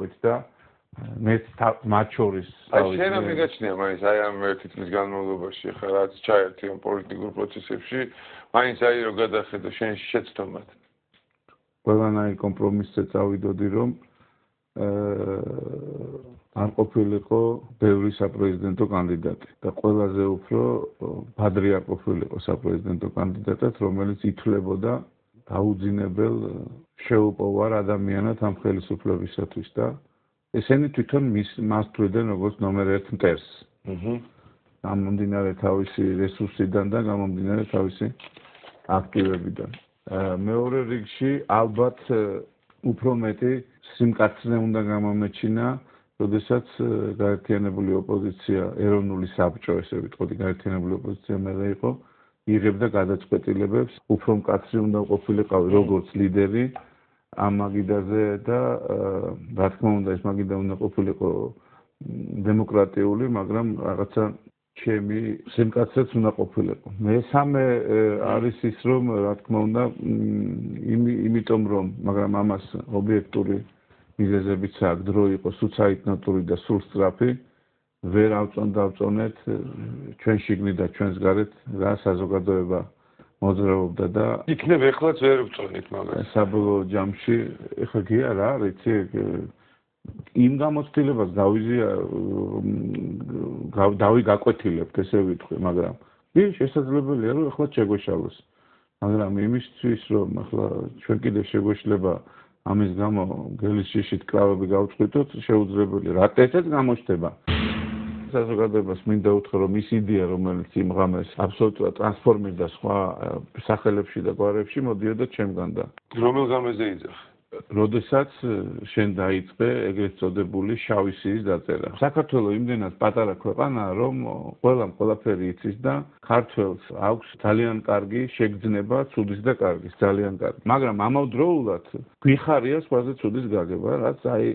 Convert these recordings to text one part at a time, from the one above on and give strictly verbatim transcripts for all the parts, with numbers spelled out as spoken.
ვიყავით და მეც მათ შორის აი შენ ამ მიგაჩნია მაინც აი ამ ერთი წლის განმავლობაში ხა რაც ჩაერთი ამ პოლიტიკურ პროცესებში მაინც აი რომ გადახედო შენ შეცდომად ყველანაირ კომპრომისზე წავიდოდი რომ არ ყოფილიყო ბევრი საპრეზიდენტო კანდიდატი და ყველაზე უფრო ბადრი არ ყოფილიყო საპრეზიდენტო კანდიდატად რომელიც ითვლებოდა დაუძინებელ შეუპოვარ ადამიანად ამ ხელისუფლებისათვის და ესენი თვითონ მას თვლიდნენ როგორც ნომერ ერთ მტერს. გამომდინარე თავისი რესურსიდან და გამომდინარე თავისი აქტივებიდან. მეორე რიგში ალბათ უფრო მეტი სიმკაცრე უნდა გამომეჩინა, როდესაც გაერთიანებული ოპოზიცია, ეროვნული საბჭო, ესე ვიტყოდი, გაერთიანებული ოპოზიცია მერე იყო, იღებდა გადაწყვეტილებებს, უფრო მკაცრი უნდა ყოფილიყავი როგორც ლიდერი ამ მაგიდაზე და რა თქმა უნდა ეს მაგიდა უნდა ყოფილიყო დემოკრატიული, მაგრამ რაღაცა ჩემი სიმკაცრეც უნდა ყოფილიყო. მესამე არის ის რომ რა თქმა უნდა იმიტომ რომ მაგრამ ამას ობიექტური მიზეზებიც აქვს, დრო იყო სუცაიტნოტური და სულ სწრაფი, ვერ ავწონ დავწონეთ ჩვენ შიგნით და ჩვენს გარეთ რა საზოგადოება მოძრაობდა და იქნებ ეხლაც ვერ ვწონით მაგას. საბოლოო ჯამში ეხლა გია რა რიცი იმ გამოცდილებას გავიზია დავი გაკვეთილებთ ესე ვიტყვი, მაგრამ ის შესაძლებელია რომ ეხლა შეგვეშალოს. მაგრამ იმისთვის რომ ეხლა ჩვენ კიდე შეგვეშლება ამის გამო გელის შიშით კრავები გავწყვიტოთ, შეუძლებელი. რატეცაც გამოჩნდება. საზოგადოებას მინდა უთხრა რომ ის იდეა რომელიც იმ ღამეს აბსოლუტურად ტრანსფორმირდა სხვა სახელებში და გვარებში მოდიოდა ჩემგან და რომელ ღამეზე იძახ? როდესაც შენ დაიწყე ეგრეთ წოდებული შავი სიის დაწერა. საქართველოს იმდენად პატარა ქვეყანაა რომ ყველამ ყველაფერი იცის და ქართველს აქვს ძალიან კარგი შეგრძნება ცუდის და კარგის, ძალიან კარგი. მაგრამ ამავდროულად გვიხარია სხვაზე ცუდის გაგება, რაც აი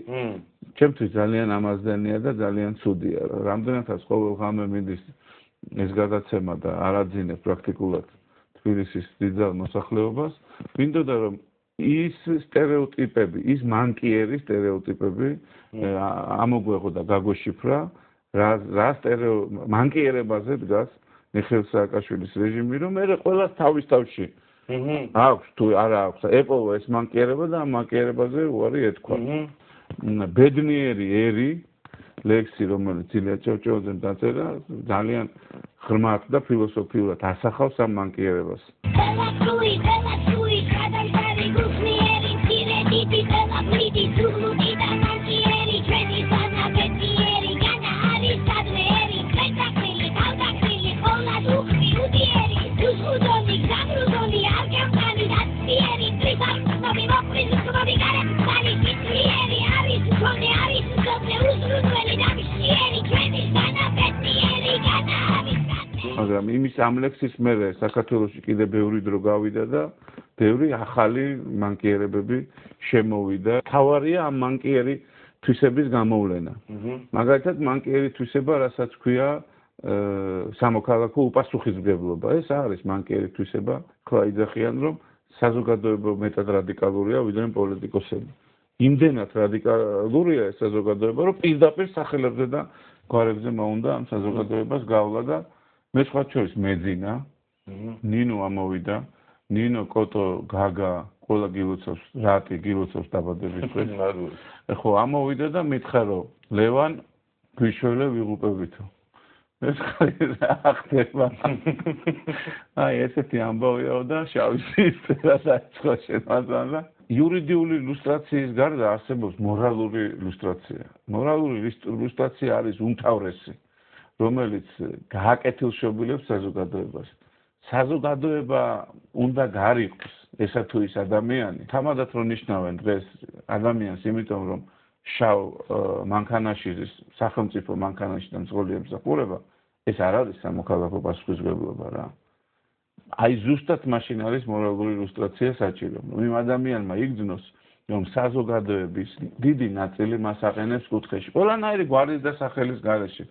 ჩემთვის ძალიან ამაზდენია და ძალიან ცუდია. რამდენადაც ყოველ ღამე მიდის ეს გადაცემა და არაძინებ პრაქტიკულად თბილისის დიდძალ მოსახლეობას, მინდოდა რომ ის სტერეოტიპები, ის მანკიერი სტერეოტიპები ამოგვეღო და გაგოშიფრა, რა რა სტერეო მანკიერებაზე დგას მიხეილ სააკაშვილის რეჟიმი, რომ მე ყველას თავის თავში აქვს თუ არა აქვს, ეპოვა ეს მანკიერება და ამ მანკიერებაზე უარი ეთქვა. ბედნიერი ერი ლექსი, რომელიც ილია ჭავჭავაძემ დაწერა, ძალიან ღრმად და ფილოსოფიურად ასახავს ამ მანკიერებას. მაგრამ იმის ამ ლექსის მერე საქართველოში კიდე ბევრი დრო გავიდა და ბევრი ახალი მანკიერებები შემოვიდა. თავარია ამ მანკიერი თვისების გამოვლენა. მაგალითად მანკიერი თვისება, რასაც ქვია სამოქალაქო უპასუხისმგებლობა. ეს არის მანკიერი თვისება. ხლა იძახიან რომ საზოგადოება მეტად რადიკალურია ვიდრე პოლიტიკოსები. იმდენად რადიკალურია ეს საზოგადოება, რომ პირდაპირ სახელებზე და გვარებზე მოუნდა ამ საზოგადოებას გავლა და მე სხვა შორის მეძინა, ნინო ამოვიდა, ნინო კოტო გაგა ყველა გილოცავს, რატი გილოცავს დაბადების დღეს. ხო ამოვიდა და მითხრა რომ ლევან გვიშველე ვიღუპებითო. ეს რა ხდება? აი ესეთი ამბავიაო და შავი სიის წერა დაიწყო შემოძანა. იურიდიული ილუსტრაციის გარდა არსებობს მორალური ილუსტრაცია. მორალური ილუსტრაცია არის უმთავრესი, რომელიც გააკეთილშობილებს საზოგადოებას. საზოგადოება უნდა გარიყოს ესა თუ ის ადამიანი. თამადად რომ ნიშნავენ დღეს ადამიანს, იმიტომ რომ შავ მანქანაში სახელმწიფო მანქანაში და მძღოლი ემსახურება, ეს არ არის სამოქალაქო პასუხისმგებლობა რა. აი ზუსტად მაშინ არის მორალური ილუსტრაცია საჭირო. იმ ადამიანმა იგრძნოს, რომ საზოგადოების დიდი ნაწილი მას აყენებს კუთხეში. ყველანაირი გვარის და სახელის გარეშე.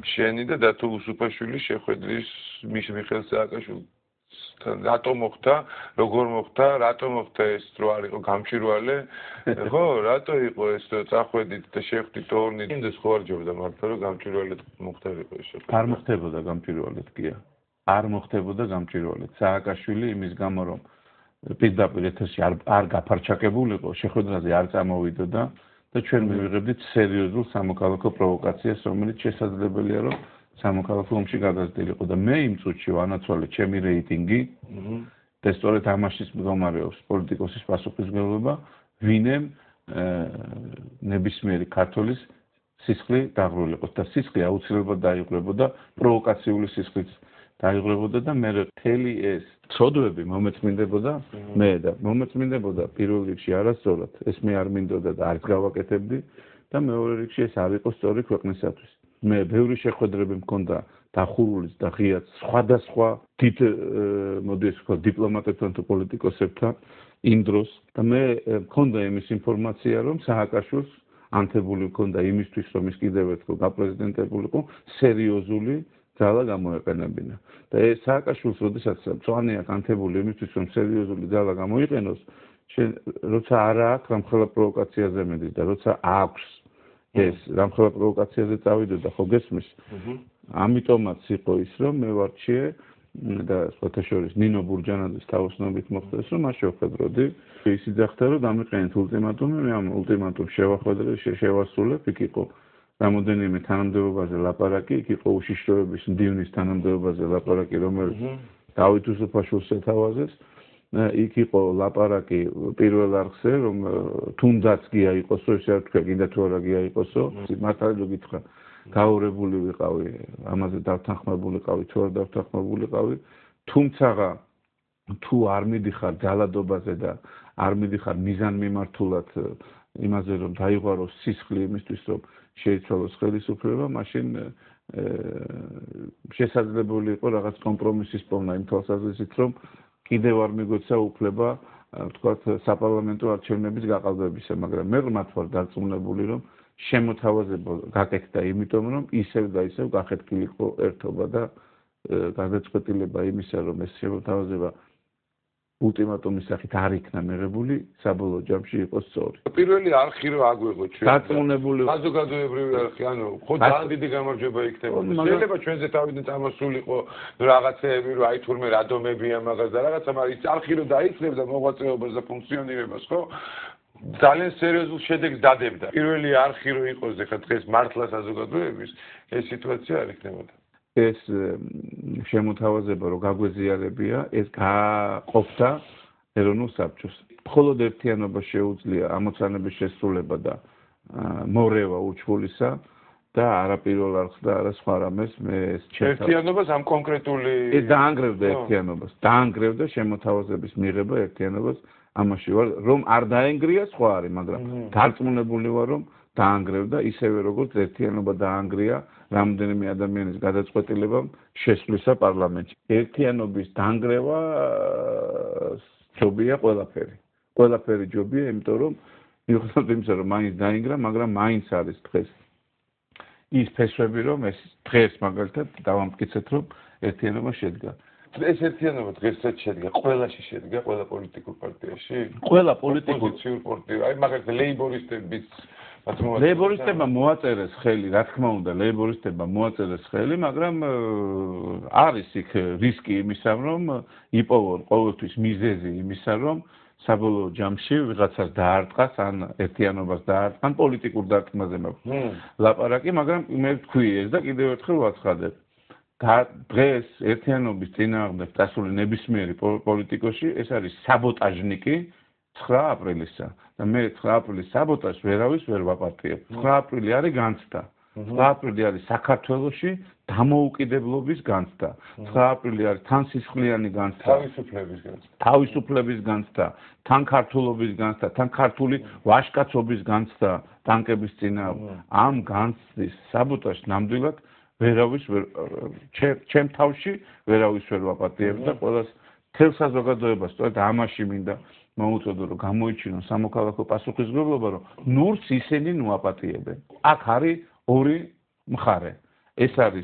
შენი და დათო უსუფაშვილის შეხვედრის მიხეილ სააკაშვილს რატო მოხდა, როგორ მოხდა, რატო მოხდა ეს რო არ იყო გამჭვირვალე? ხო, რატო იყო ეს წახვედით და შეხვდით ორნი? იმდეს ხო არ ჯობდა მართლა რომ გამჭვირვალედ მოხდარიყო ეს შეხვედრა? არ მოხდებოდა გამჭვირვალედ გია. არ მოხდებოდა გამჭვირვალედ. სააკაშვილი იმის გამო რომ პირდაპირ ეთერში არ არ გაფარჩაკებულიყო, შეხვედრაზე არ წამოვიდოდა და ჩვენ მივიღებდით სერიოზულ სამოქალაქო პროვოკაციას, რომელიც შესაძლებელია რომ სამოქალაქო ომში გადასდილიყო და მე იმ წუთში ვანაცვალე ჩემი რეიტინგი და სწორედ ამაშიც მდგომარეობს პოლიტიკოსის პასუხისმგებლობა, ვინემ ნებისმიერი ქართველის სისხლი დაღრილიყოს და სისხლი აუცილებლად დაიღრებოდა პროვოკაციული სისხლით დაიღრებოდა და მე მთელი ეს ცოდვები მომეწმინდებოდა მე და მომეწმინდებოდა პირველ რიგში არასწორად ეს მე არ მინდოდა და არც გავაკეთებდი და მეორე რიგში ეს არ იყო სწორი ქვეყნისათვის მე ბევრი შეხვედრები მქონდა დახურულის და ღიაც სხვადასხვა დიდ მოდი ეს ვთქვა დიპლომატებთან თუ პოლიტიკოსებთან იმ დროს და მე მქონდა იმის ინფორმაცია რომ სააკაშვილს ანთებული მქონდა იმისთვის რომ ის კიდევ ერთხელ გაპრეზიდენტებულიყო სერიოზული ძალა გამოეყენებინა და ეს სააკაშვილს როდესაც მწვანე აქვს ანთებული იმისთვის რომ სერიოზული ძალა გამოიყენოს როცა არ აქვს რამხელა პროვოკაციაზე მედის და როცა აქვს ეს რამხელა პროვოკაციაზე წავიდოდა ხო გესმის ამიტომაც იყო ის რომ მე ვარჩიე და სხვათა შორის ნინო ბურჯანაძის თავოსნობით მოხდეს რომ მას შევხედროდი ის იძახდა რომ დამიყენეთ ულტიმატუმი მე ამ ულტიმატუმს შევახვედრე შევასრულებ იქ იყო რამოდენიმე თანამდებობაზე ლაპარაკი იქ იყო უშიშროების მდივნის თანამდებობაზე ლაპარაკი რომელიც დავით უსუფაშვილს ეთავაზეს იქ იყო ლაპარაკი პირველ არხზე რომ თუნდაც გია იყოსო ესე არ თქვა კიდე თუ არა გია იყოსო მართალი რო გითხრა გაურებული ვიყავი ამაზე დავთანხმებულიყავი თუ არ დავთანხმებულიყავი თუმცა თუ არ მიდიხარ ძალადობაზე და არ მიდიხარ მიზანმიმართულად იმაზე რომ დაიღვაროს სისხლი იმისთვის რომ შეიცვალოს ხელისუფლება მაშინ შესაძლებელი იყო რაღაც კომპრომისის პოვნა იმ თვალსაზრისით რომ კიდევ არ მიგვეცა უფლება ვთქვათ საპარლამენტო არჩევნების გაყალბებისა მაგრამ მე ღმრთ ვარ დარწმუნებული რომ შემოთავაზება გაკეთდა იმიტომ რომ ისევ და ისევ გახეთქილიყო ერთობა და გადაწყვეტილება იმისა რომ ეს შემოთავაზება ულტიმატუმის სახით არ იქნა მიღებული საბოლოო ჯამში იყო სწორი. პირველი არხი რო აგვიღო ჩვენ. დარწმუნებული საზოგადოებრივი არხი, ანუ ხო ძალიან დიდი გამარჯვება იქნებოდა. შეიძლება ჩვენზე თავიდან წამოსულიყო რაღაცეები რო აი თურმე რადომებია მაგას და რაღაცა, მაგრამ ის არხი რო დაიწლებდა მოღვაწეობას და ფუნქციონირებას, ხო? ძალიან სერიოზულ შედეგს დადებდა. პირველი არხი რო იყოს ეხლა დღეს მართლა საზოგადოების ეს სიტუაცია არ იქნებოდა. ეს შემოთავაზება რო გაგვეზიარებია ეს გაყოფდა ეროვნულ საბჭოს. მხოლოდ ერთიანობა შეუძლია ამოცანების შესრულება და მორევა უჩვოლისა და არა პირველ არხს და არა სხვა რამეს მე ეს ერთიანობას ამ კონკრეტული ეს დაანგრევდა ერთიანობას დაანგრევდა შემოთავაზების მიღება ერთიანობას ამაში ვარ რომ არ დაენგრია სხვა არის მაგრამ დარწმუნებული ვარ რომ დაანგრევდა ისევე როგორც ერთიანობა დაანგრია რამდენიმე ადამიანის გადაწყვეტილებამ შესვლისა პარლამენტში. ერთიანობის დანგრევა ჯობია ყველაფერი. ყველაფერი ჯობია, იმიტომ რომ მიუხედავად იმისა, რომ მაინც დაინგრა, მაგრამ მაინც არის დღეს ის ფესვები, რომ ეს დღეს მაგალითად დავამტკიცეთ, რომ ერთიანობა შედგა. ეს ერთიანობა დღესაც შედგა, ყველაში შედგა, ყველა პოლიტიკურ პარტიაში? ყველა პოლიტიკურ ოპოზიციურ პარტიაში, აი მაგალითად ლეიბორისტების ლეიბორისტებმა მოაწერეს ხელი, რა თქმა უნდა, ლეიბორისტებმა მოაწერეს ხელი, მაგრამ არის იქ რისკი იმისა, რომ იპოვონ ყოველთვის მიზეზი იმისა, რომ საბოლოო ჯამში ვიღაცას დაარტყას, ან ერთიანობას დაარტყან, პოლიტიკურ დარტყმაზე მაქვს ლაპარაკი, მაგრამ მე ვთქვი ეს და კიდევ ერთხელ ვაცხადებ. დღეს ერთიანობის წინააღმდეგ წასული ნებისმიერი პოლიტიკოსი ეს არის საბოტაჟნიკი ცხრა აპრილისა და მე ცხრა აპრილის საბოტაჟს ვერავის ვერ ვაპატიებ. ცხრა აპრილი არის განცდა. ცხრა აპრილი არის საქართველოში დამოუკიდებლობის განცდა. ცხრა აპრილი არის თანსისხლიანი განცდა. თავისუფლების განცდა. თავისუფლების განცდა, თან ქართულობის განცდა, თან ქართული ვაჟკაცობის განცდა ტანკების წინააღმდეგ. ამ განცდის საბოტაჟს ნამდვილად ვერავის ვერ ჩემ თავში ვერავის ვერ ვაპატიებ და ყველას თელ საზოგადოებას სწორედ ამაში მინდა მოუწოდო რომ გამოიჩინოს სამოქალაქო პასუხისმგებლობა რომ ნურს ისინი ნუაპატიებენ. აქ არის ორი მხარე. ეს არის